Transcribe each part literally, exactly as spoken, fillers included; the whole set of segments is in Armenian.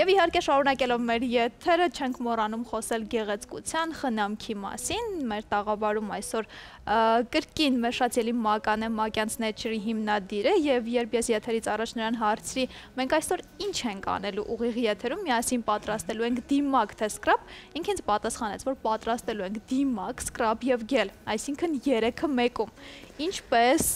Եվ իհարկե շարունակելով մեր եթերը չենք մոռանում խոսել գեղեցկության, խնամքի մասին, մեր տաղավարում այսօր կրկին Մերշացիելի Մական է, Մակյանց Nature-ի հիմնադիրը, եւ երբ ես եթերից առաջ նրան հարցրի, մենք այսօր ինչ ենք անելու ուղիղ եթերում, միասին պատրաստելու ենք դիմակ թե սկրաբ, ինքը ինձ պատասխանեց, որ պատրաստելու ենք դիմակ, սկրաբ եւ գել, այսինքն երեքը մեկում։ Ինչպես,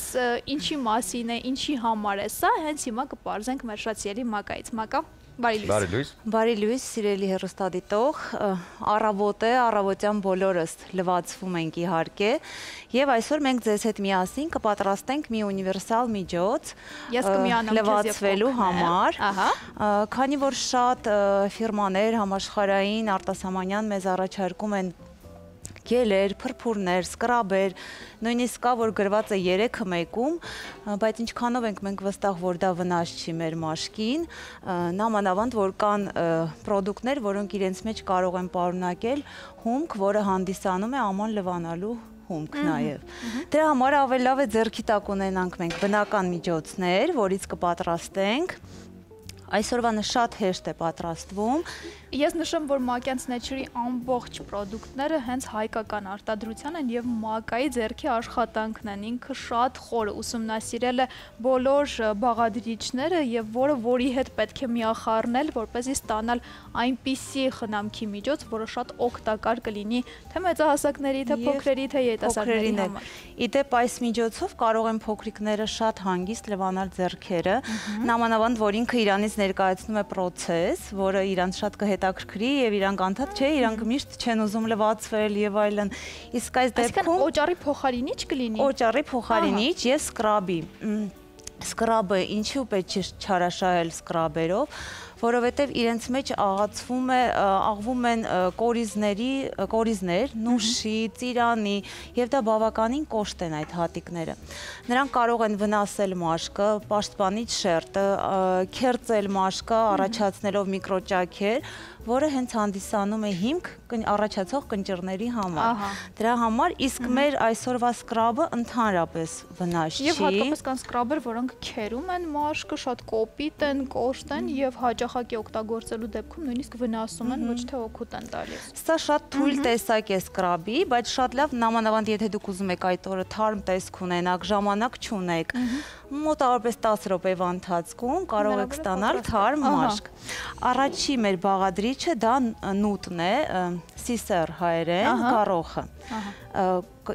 ինչի մասին է, ինչի համար է սա, հենց հիմա կպարզենք Մերշացիելի Մակայից։ Մակա, բարի լույս։ Բարի լույս, սիրելի հեռուստադիտող, առավոտ է, առավոտյան բոլորս լվացվում ենք իհարկե, եւ այսօր մենք ձեզ հետ միասին կպատրաստենք մի ունիվերսալ միջոց լվացվելու համար, քանի որ շատ ֆիրմաներ համաշխարհային արտասահմանյան մեզ առաջարկում են գելեր, փրփուրներ, սկրաբեր, նույնիսկ կա, որ գրված է երեքը մեկում, բայց ինչքանով ենք մենք վստահ, որ դա վնաս չի մեր մաշկին, նամանավանդ, որ կան պրոդուկտներ, որոնք իրենց մեջ կարող են պարունակել հումք, որը հանդիսանում է աման լվանալու հումք նաև։ Դրա համար ավելի լավ է ձեռքի տակ ունենանք մենք բնական միջոցներ, որից կպատրաստենք։ Այսօրվանը շատ հեշտ է պատրաստվում։ Ես նշեմ, որ Մակյանց Nature-ի ամբողջ պրոդուկտները հենց հայկական արտադրության են եւ Մակայի ձեռքի աշխատանքն են։ Ինքը շատ խոր ուսումնասիրել է բոլոր բաղադրիչները եւ որը որի հետ պետք է միախառնել, որպեսզի ստանալ այնպիսի խնամքի միջոց, որը շատ օգտակար կլինի թե մեծահասակների, թե փոքրերի, թե երիտասարդների համար։ Իդեպ այս միջոցով կարող են փոքրիկները շատ հանգիստ լվանալ ձեռքերը, նամանավանդ, որ ինքը իրանից ներկայացնում է process, որը իրանց շատ կհետաքրքրի եւ իրանք անդադ չէ, իրանք միշտ չեն ուզում լվացվել եւ այլն։ Իսկ այս դեպքում օճառի փոխարինիչ կլինի։ Օճառի փոխարինիչ եւ սկրաբի։ Սկրաբը ինչու պետք է չարաշահել սկրաբերով, որովհետև իրենց մեջ աղացվում է, աղվում են կորիզների, կորիզներ, նուշի, ծիրանի, եւ դա բավականին կոշտ են այդ հատիկները։ Նրանք կարող են վնասել մաշկը, պաշտպանիչ շերտը, քերծել մաշկը, առաջացնելով միկրոճաքեր, որը հենց հանդիսանում է հիմք առաջացող կնճիռների համար։ Դրա համար իսկ մեր այսօրվա սկրաբը ընդհանրապես վնաս չի։ Եվ հատկապես կան սկրաբեր, որոնք քերում են մաշկը, շատ կոպիտ են, կոշտ են եւ հաճախակի օգտագործելու դեպքում նույնիսկ վնասում են, ոչ թե օգուտ են տալիս։ Սա շատ թույլ տեսակ է սկրաբի, բայց շատ լավ նամանավանդ եթե դուք ուզում եք այդ օրը թարմ տեսք ունենաք, ժամանակ չունեք, մոտավորապես տասը րոպեվա ընթացքում կարող եք ստանալ թարմ մաշկ։ Առաջի մեր բաղադրիչը դա նուտն է, սիսեր հայերեն, գառոխը։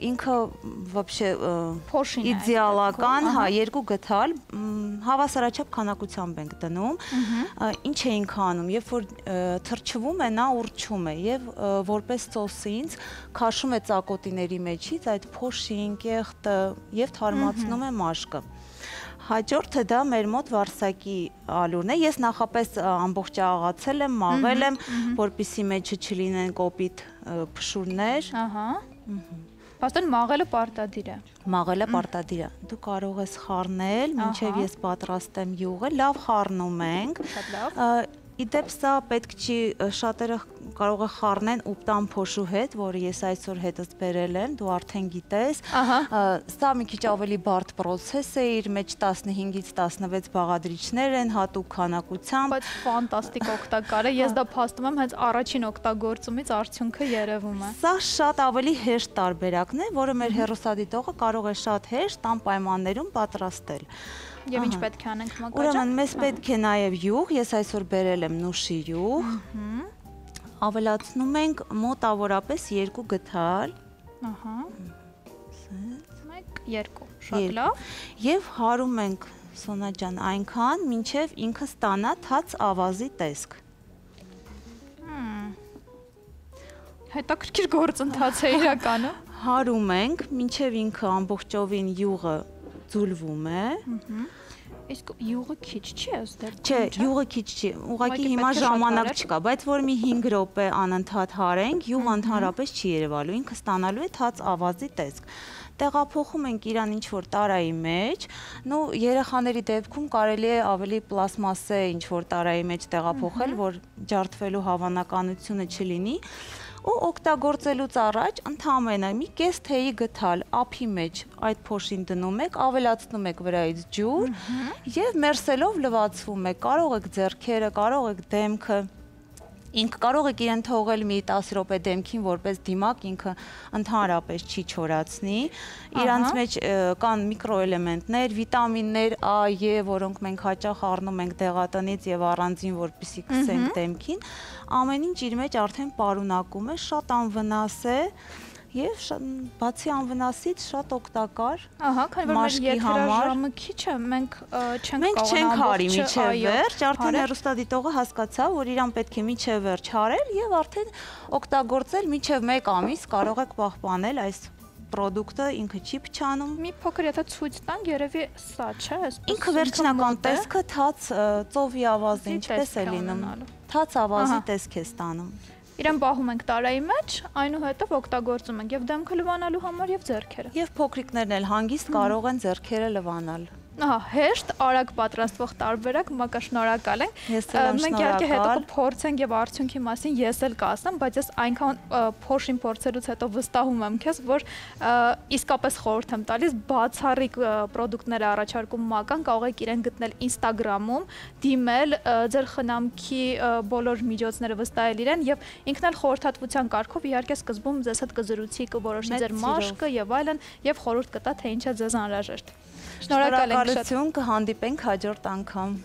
Ինքը вообще իդեալական, հա, երկու գթալ, հավասարաչափ քանակությամբ ենք դնում։ Ինչ էինք անում, երբ որ թրջվում է, նա ուռչում է եւ որպես սոսինց քաշում է ծակոտիների մեջից այդ փոշին, կեղտը եւ թարմացնում է մաշկը։ Հաջորդը դա մեր մոտ վարսակի ալուրն է։ Ես նախապես ամբողջ աղացել եմ, մաղել եմ, որպեսզի մեջը չլինեն կոպիտ փշուրներ։ Ահա։ Պաստոն մաղելը պարտադիր է։ Մաղելը պարտադիր է։ Դու կարող ես խառնել, մինչև ես պատրաստեմ յուղը, լավ խառնում ենք։ Շատ լավ։ Իդեպ սա պետք չի, շատերը կարող է խառնեն ուպտան փոշու հետ, որը ես այսօր հետս բերել եմ, դու արդեն գիտես։ Սա մի քիչ ավելի բարդ process է, իր մեջ տասնհինգից տասնվեց բաղադրիչներ են, հատուկ քանակությամբ։ Բայց ֆանտաստիկ օգտակար է, ես դա փաստում եմ հենց առաջին օգտագործումից արդյունքը երևում է։ Սա շատ ավելի հեշտ տարբերակն է, որը մեր հեռուստադիտողը կարող է շատ հեշտ անպայմաններում պատրաստել։ Եվ ինչ պետք է անենք Մակա ջան։ Ուրեմն մեզ պետք է նաև յուղ, ես այսօր բերել եմ նուշի յուղ։ Ավելացնում ենք մոտավորապես երկու գթալ։ Ահա։ մեկ, երկու, շատ լավ։ Եվ հարում ենք Սոնա ջան այնքան, մինչև ինքը ստանա թաց ավազի տեսք։ Հետաքրքիր գործընթաց է իրականում։ Հարում ենք, մինչև ինքը ամբողջովին յուղը ձուլվում է։ Իսկ յուղը քիչ չի ըստ։ Չէ, յուղը քիչ չի, ուղղակի հիմա ժամանակ չկա, բայց որ մի հինգ րոպե անընդհատ հարենք, յուղը ընդհանրապես չի երևալու, ինքը ստանալու է թաց ավազի տեսք։ Տեղափոխում ենք իրան ինչ-որ տարայի մեջ, նու երեխաների դեպքում կարելի է ավելի պլաստմասե ինչ-որ տարայի մեջ տեղափոխել, որ ջարդվելու հավանականությունը չլինի։ ու օգտագործելուց առաջ ընդամենը մի կես թեյի գթալ ափի մեջ այդ փոշին դնում եք, ավելացնում եք վրայից ջուր եւ մերսելով լվացվում եք, կարող եք ձեռքերը, կարող եք դեմքը Ինքը կարող եք իրեն թողել մի տասը րոպե դեմքին որպես դիմակ, ինքը ընդհանրապես չի չորացնի։ Իրանց մեջ կան միկրոէլեմենտներ, վիտամիններ A, E, որոնք մենք հաճախ առնում ենք դեղատնից եւ առանձին, որպեսզի քսենք դեմքին, ամեն ինչ իր մեջ արդեն պարունակում է, շատ անվնաս է Եվ բացի անվնասից շատ օգտակար մաշկի համար։ Քիչ է, մենք չենք հարի միջև վերջ, արդեն հեռուստադիտողը հասկացավ, որ իրան պետք է միջև վերջ հարել եւ արդեն օգտագործել միջև մեկ ամիս կարող եք պահպանել այս պրոդուկտը, ինքը չի փչանում։ Մի փոքր եթե ցույց տանք, երևի սա չէ, այսպես։ Ինքը վերջնական տեսքը թաց ծովի ավազը ինչպես է լինում։ Թաց ավազի տեսք է ստանում։ Իրեն պահում ենք տարայի մեջ, այնուհետև օգտագործում ենք եւ դեմքը լվանալու համար եւ ձեռքերը։ Եվ փոքրիկներն էլ հանգիստ կարող են ձեռքերը լվանալ։ Ահա, հեշտ, արագ պատրաստվող տարբերակ, մակա շնորհակալ ենք։ Մենք իհարկե հետո կփորձենք եւ արդյունքի մասին ես էլ կասեմ, բայց ես այնքան փոշին փորձելուց հետո վստահում եմ քեզ, որ իսկապես խորհուրդ եմ տալիս բացառիկ պրոդուկտներ առաջարկում մական, կարող եք իրեն գտնել Instagram-ում, դիմել, ձեր խնամքի բոլոր միջոցները վստահել իրեն եւ ինքն էլ խորհրդատվության կարգով իհարկե սկզբում ձեզ հետ կզրուցի, կորոշի ձեր մաշկը եւ այլն եւ խորհուրդ կտա թե ինչ է ձեզ անհրաժեշտ։ Շնորհակալ ենք շատ։ Կհանդիպենք հաջորդ անգամ։